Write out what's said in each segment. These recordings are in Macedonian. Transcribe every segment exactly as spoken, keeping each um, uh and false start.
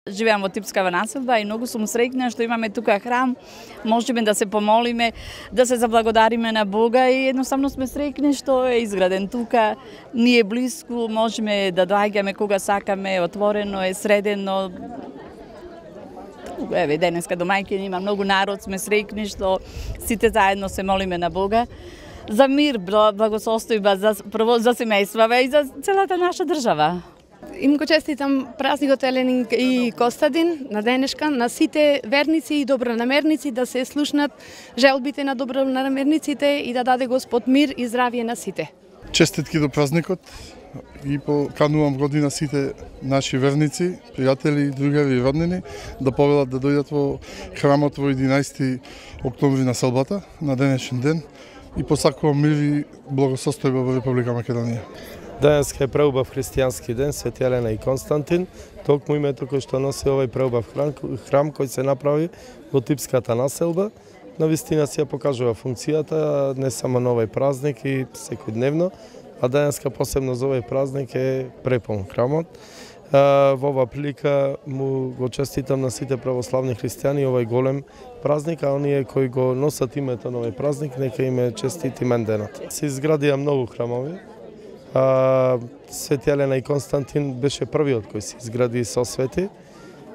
Живеам во Типскава населба и многу сум среќна што имаме тука храм, можеме да се помолиме, да се заблагодариме на Бога и едноставно сме среќни што е изграден тука, ни е блиску, можеме да доаѓаме кога сакаме, отворено е, средено. Еве, денеска домаќини има многу народ, сме среќни што сите заедно се молиме на Бога за мир, благосостојба, за прво за семејствата и за целата наша држава. Им го честитам празникот Елен и Костадин на денешка, на сите верници и добронамерници да се слушнат желбите на добронамерниците и да даде Господ мир и здравје на сите. Честитки до празникот и поканувам година сите наши верници, пријатели, другари и роднини да повелат да дојдат во храмот во единаесети октомври на селбата, на денешен ден и посакувам мир и благосостојба во Република Македонија. Денеска е преубав христијански ден, Свети Елена и Константин, токму името кој што носи овој преубав храм, храм кој се направи во Типската населба. Навистина си ја покажува функцијата не само на овој празник и секојдневно, а денеска посебно за овој празник е препон храмот. Во оваа прилика му го честитам на сите православни христијани овој голем празник, а оние кои го носат името на овој празник, нека им е честит именденот. Се изградија многу храмови. Свети Елена и Константин беше првиот кој се изгради со свети.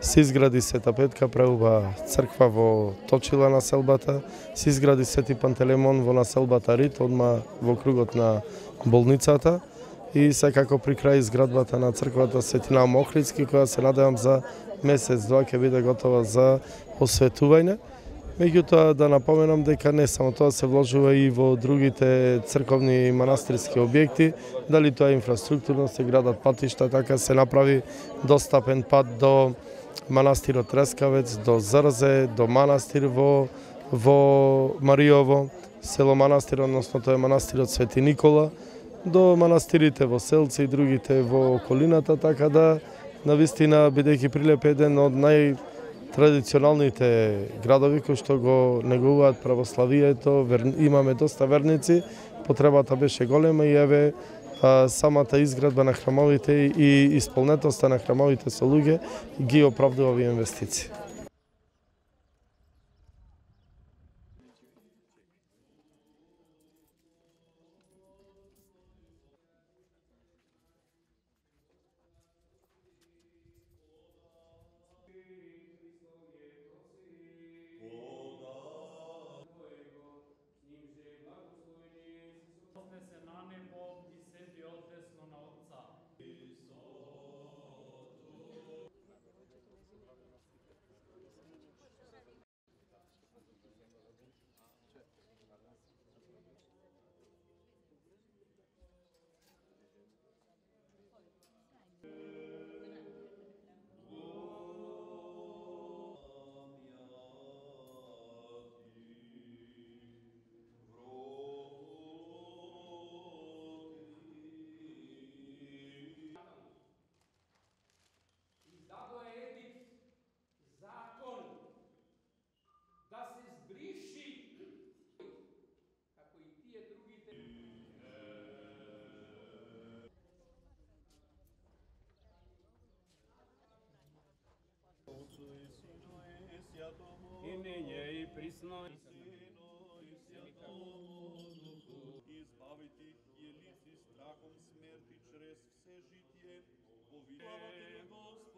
Се изгради Света Петка, преуба црква во Точила на селбата, се изгради Свети Пантелеймон во населбата Рит, одма во кругот на болницата и секако при крај изградбата на црквата Свети Наум Охридски, која се надевам за месец-два ќе биде готова за осветување. Меѓутоа да напоменам дека не само тоа се вложува и во другите црковни и манастирски објекти, дали тоа е инфраструктурно, се градат патишта, така се направи достапен пат до манастирот Трескавец, до Зрзе, до манастир во во Мариово, село Манастир, односно тоа е манастирот Свети Никола, до манастирите во Селци и другите во околината, така да навистина бидејќи Прилеп е еден од нај традиционалните градови кои што го негуваат православието, имаме доста верници, потребата беше голема и еве самата изградба на храмовите и исполнетоста на храмовите со луѓе ги оправдува овие инвестиции. И није и присно избавите јелици страхом смерти чрез все житие, во виновата Господи.